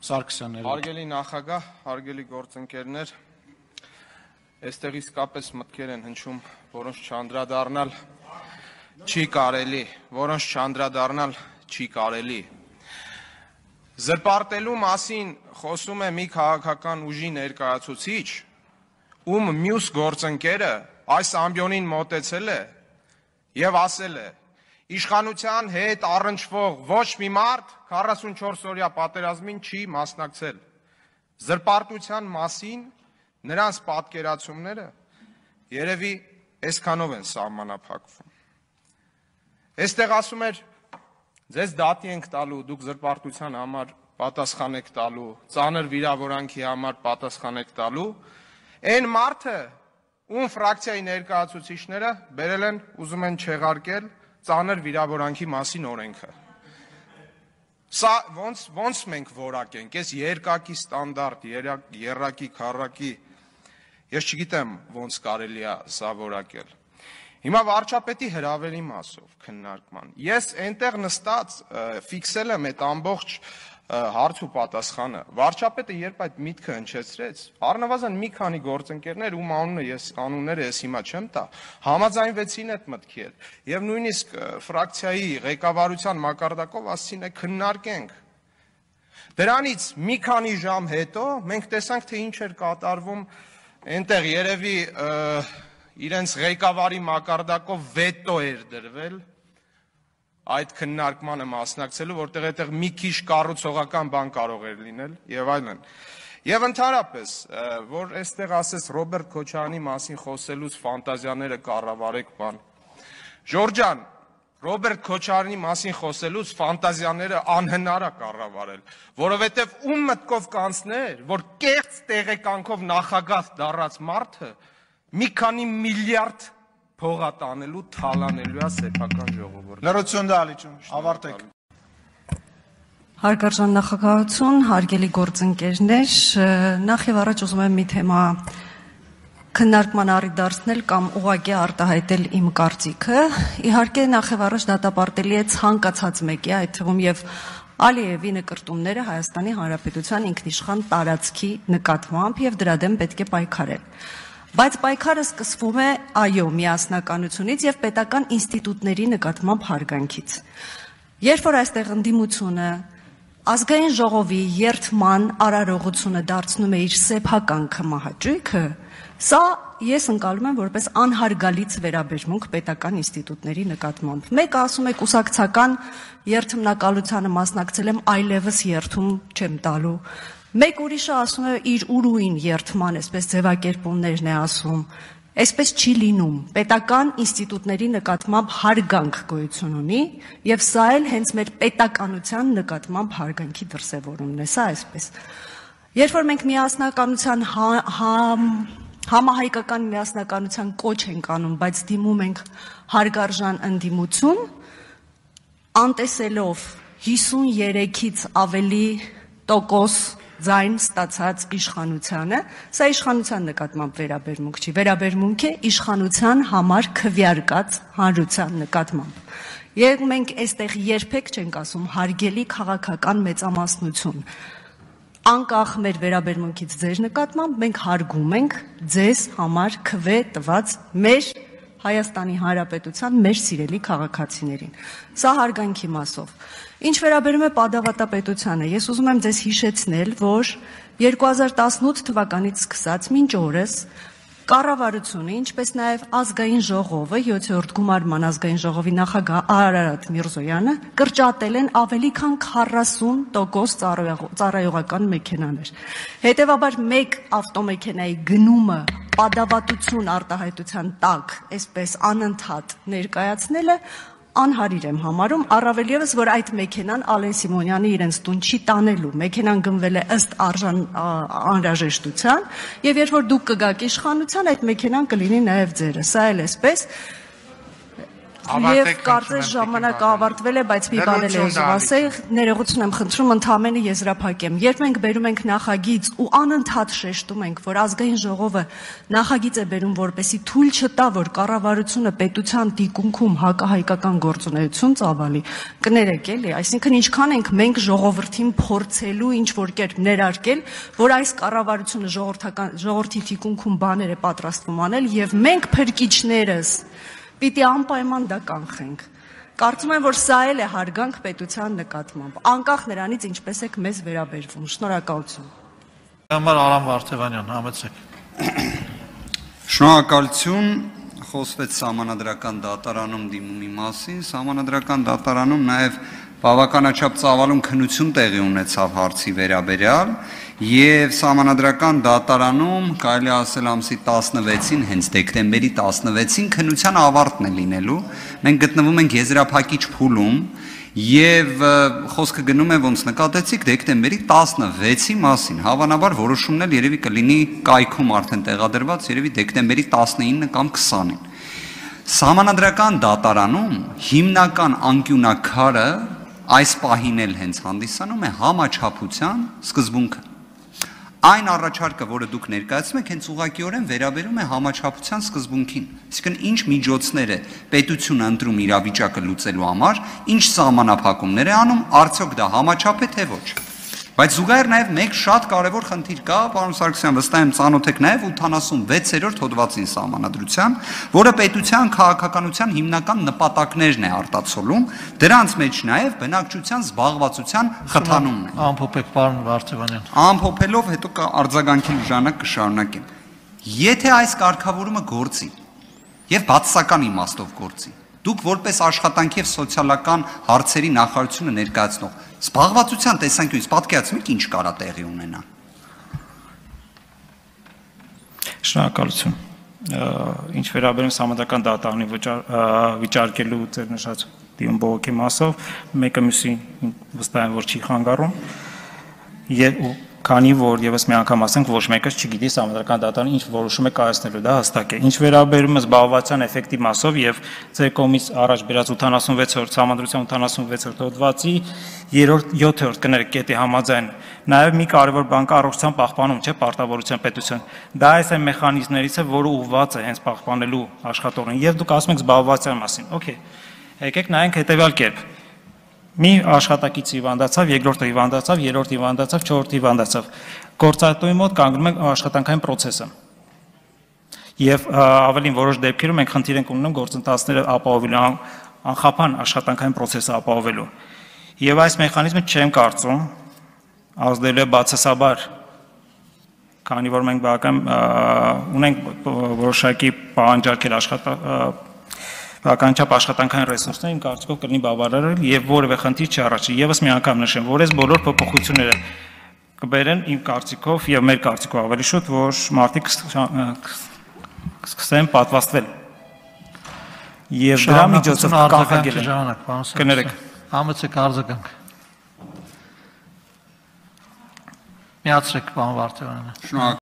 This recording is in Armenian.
Սարգսյանն Հարգելի նախագահ, հարգելի գործընկերներ, այստեղ իսկապես մտքեր են հնչում, որոնց չանդրադառնալ չի կարելի, Զրպարտելու մասին խոսում է մի քաղաքական ուժի ներկայացուցիչ, ում մյուս գործընկերը այս ամբիոնին մոտեցել է եւ ասել է. Իշխանության հետ առնչվող ոչ մի մարդ 44-օրյա պատերազմին չի մասնակցել։ Զրպարտության մասին նրանց պատկերացումները երևի այսքանով են սահմանափակվում։ Այստեղ ասում էր, ձեզ դատի ենք տալու, դուք զրպարտության համար պատասխան եք տալու, ծանր վիրավորանքի համար պատասխան եք տալու, այն մարդը, ում ֆրակցիայի ներկայացուցիչները բերել են, ուզում են չեղարկել ծանր վիրավորանքի մասին օրենքը։ Սա ոնց մենք որակենք, այս երկակի ստանդարտ, երակի, քառակի, ես չգիտեմ ոնց կարելի է սա որակել։ Հիմա վարչապետի հրավերի մասով քննարկման։ Ես այնտեղ նստած ֆիքսել եմ այդ ամբողջ հարց ու պատասխանը։ Վարչապետը երբ այդ միտքը հնչեցրեց, առնվազն մի քանի գործընկերներ, ում անունները ես հիմա չեմ տա, համաձայնվեցին այդ մտքի հետ։ Եվ նույնիսկ ֆրակցիայի ղեկավարության մակարդակով ասեցին է քննարկենք։ Դրանից մի քանի ժամ հետո մենք տեսանք, թե ինչ էր կատարվում այնտեղ երևի իրենց ղեկավարի մակարդակով վետո էր դրվել այդ քննարկմանը մասնակցելու, որտեղ այդտեղ մի քիչ կառուցողական բան կարող էր լինել եւ այլն։ Եվ ընդհանրապես, որ այստեղ ասես Ռոբերտ Քոչարյանի մասին խոսելուց ֆանտազիաները կառավարեք բան։ Ժորժ ջան, Ռոբերտ Քոչարյանի մասին խոսելուց ֆանտազիաները անհնար է կառավարել, որովհետեւ ում մտքով կանցներ, որ կեղծ տեղեկանքով նախագահ դառած մարդը մի քանի միլիարդ փողատանելու, թալանելու է սեփական ժողովուրդը։ Լրություն դալիճուն, ավարտեք։ Հարգարժան նախագահություն, հարգելի գործընկերներ, նախ եւ առաջ ուզում եմ մի թեմա քննարկման առիթ դարձնել կամ ուղղակի արտահայտել իմ կարծիքը։ Իհարկե նախ եւ առաջ դատապարտելի է ցանկացած մեկի, այդ թվում եւ Ալիևի նկրտումները Հայաստանի Հանրապետության ինքնիշխան տարածքի նկատմամբ եւ դրա դեմ պետք է պայքարել։ Բայց պայքարը սկսվում է այո միասնականությունից եւ պետական ինստիտուտների նկատմամբ հարգանքից։ Երբ որ այստեղ ընդդիմությունը ազգային ժողովի երթման արարողությունը դարձնում է իր սեփական կմահաճույքը, սա ես ընկալում եմ որպես անհարգալից վերաբերմունք պետական ինստիտուտների նկատմամբ։ Մեկը ասում է կուսակցական երթմնակալությանը մասնակցել եմ, այլևս երթում չեմ տալու։ Մեկ ուրիշը ասում է իր ուրույն երթման, այսպես ձևակերպումներն է ասում, այսպես չի լինում, պետական ինստիտուտների նկատմամբ հարգանք գոյություն ունի եւ սա էլ հենց մեր պետականության նկատմամբ հարգանքի դրսեւորումն է, սա այսպես։ Երբ որ մենք միասնականության համահայկական միասնականության կոչ ենք անում, բայց դիմում ենք հարգարժան ընդդիմություն, անտեսելով 53-ից ավելի տոկոս ձայն ստացած իշխանությանը, սա իշխանության նկատմամբ վերաբերմունք չի, վերաբերմունք է իշխանության համար քվեարկած հանրության նկատմամբ։ Եվ մենք այստեղ երբեք չենք ասում հարգելի քաղաքական մեծամասնություն։ Անկախ մեր վերաբերմունքից ձեր նկատմամբ մենք հարգում ենք ձեզ համար քվե տված մեր Հայաստանի Հանրապետության մեր սիրելի քաղաքացիներին։ Սա հարգանքի մասով։ Ինչ վերաբերում է պատավատապետությանը, ես ուզում եմ ձեզ հիշեցնել, որ 2018 թվականից սկսած մինչ օրս կառավարությունը, ինչպես նաև ազգային ժողովը, 7-րդ գումարման ազգային ժողովի նախագահ Արարատ Միրզոյանը կրճատել են ավելի քան 40% ծառայողական մեքենաներ։ Հետևաբար մեկ ավտոմեքենայի գնումը պատավատություն արտահայտության տակ, այսպես անընդհատ ներկայացնելը անհարիր եմ համարում, առավել ևս, որ այդ մեքենան Ալեն Սիմոնյանի իրենց տուն չի տանելու, մեքենան գնվել է ըստ անհրաժեշտության, եւ երբ որ դուք կգաք իշխանության, այդ մեքենան կլինի նաեւ ձերը, սա էլ այսպես Եվ կարծես ժամանակը ավարտվել է, բայց մի բան էլ ուզում ասել, ներողություն եմ խնդրում, ընդհանրապես եզրափակեմ։ Երբ մենք բերում ենք նախագիծ ու անընդհատ շեշտում ենք, որ ազգային ժողովը նախագիծ է բերում, որպեսզի թույլ չտա, որ կառավարությունը պետության դիկունքում հակահայկական գործունեություն ծավալի, կներեք էլի, այսինքն ինչքան ենք մենք ժողովրդին փորձելու ինչ որ կերպ ներարկել, որ այս կառավարությունը ժողովրդի դիկունքում բաներ է պատրաստվում անել եւ մենք փրկիչներս պիտի անպայման դա կանխենք։ Կարծում եմ, որ սա էլ է հարգանք պետության նկատմամբ, անկախ նրանից ինչպես եք մեզ վերաբերվում։ Շնորհակալություն։ Համար Արամ Վարդևանյան, համեցեք։ Շնորհակալություն, խոսվեց սահմանադրական դատարանում դիմումի մասին, սահմանադրական դատարանում նաև բավականաչափ ծավալուն քննություն տեղի ունեցավ հարցի վերաբերյալ եւ սահմանադրական դատարանում կարելի ասել ամսի 16-ին, հենց դեկտեմբերի 16-ին քննության ավարտն է լինելու։ Մենք գտնվում ենք եզրափակիչ փուլում եւ խոսքը գնում է ոնց նկատեցիք դեկտեմբերի 16-ի մասին։ Հավանաբար որոշումն էլ երևի կլինի կայքում արդեն տեղադրված, երևի դեկտեմբերի 19 կամ 20-ին։ Սահմանադրական դատարանում հիմնական անկյունակարը այս պահին էլ հենց հանդիսանում է համաչափության սկզբունքը։ Այն առաջարկը, որը դուք ներկայացնում եք, հենց ուղղակիորեն վերաբերում է համաչափության սկզբունքին։ Այսինքն ինչ միջոցներ է պետությունը ընտրում իրավիճակը լուծելու համար, ինչ սահմանափակումներ է անում, արդյոք դա համաչափ է թե ոչ։ Բայց զուգահեռ նաև մեկ շատ կարևոր խնդիր կա, պարոն Սարգսյան, վստահ եմ ծանոթ եք նաև 86-րդ հոդվածին սահմանադրության, որը պետության քաղաքականության հիմնական նպատակներն է արտացոլում, դրանց մեջ նաև բնակչության զբաղվածության խթանումն է։ Ամփոփեք, պարոն Վարդևանյան։ Ամփոփելով հետո արձագանքելու ժամանակ կշարունակեմ։ Եթե այս կարգավորումը գործի եւ բացասական իմաստով գործի, դուք որպես աշխատանքի եւ սոցիալական հարցերի նախարարությունը ներկայացնող զբաղվածության տեսանկյունից պատկերացնեք ինչ կարա տեղի ունենա։ Շնորհակալություն։ Ինչ վերաբերում սահմանադրական դատարանի վիճարկելու ձեր նշած դիում բողոքի մասով, մեկը մյուսին վստահ եմ, որ չի խանգարում, քանի որ եւս մի անգամ ասենք, ոչ մեկը չգիտի սահմանադրական դատարանը ինչ որոշում է կայացնելու, դա հստակ է։ Ինչ վերաբերում է զբաղվածության էֆեկտի մասով եւ ձեր կողմից առաջ բերած 86-րդ սահմանադրության 86-րդ հոդվածի 7-րդ կներեք կետի համաձայն նաեւ մի կարևոր բան կա առողջության պահպանում, չէ, պարտավորության պետության։ Դա այս այն մեխանիզմներից է, որը ուղղված է հենց պահպանելու աշխատողին եւ դուք ասում եք զբաղվածության մասին։ Okay։ Եկեք նայենք հետեւյալ կերպ։ Մի աշխատակից հիվանդացավ, երկրորդը հիվանդացավ, երրորդը հիվանդացավ, չորրորդը հիվանդացավ։ Գործատուի մոտ կանգնում է աշխատանքային process-ը։ Եվ ավելին որոշ դեպքերում մենք խնդիր ենք ունենում գործընթացները ապահովելու, անխափան աշխատանքային process-ը ապահովելու։ Եվ այս մեխանիզմը չեմ կարծում ազդելու է բացասաբար, քանի որ մենք բավական ունենք որոշակի պահանջարկել բավականաչափ աշխատանքային ռեսուրսներ, իմ կարծիքով կլինի բավարարել եւ որևէ խնդիր չառաջի։ Եվս մի անգամ նշեմ, որ այս բոլոր փոփոխությունները կբերեն իմ կարծիքով եւ մեր կարծիքով ավելի շուտ, որ մարդիկ սկսեն պատվաստվել։ Եվ դրա միջոցով կանխագել են։ Կներեք, համեցեք արձագանք։ Միացրեք, պարոն Վարդևանյան։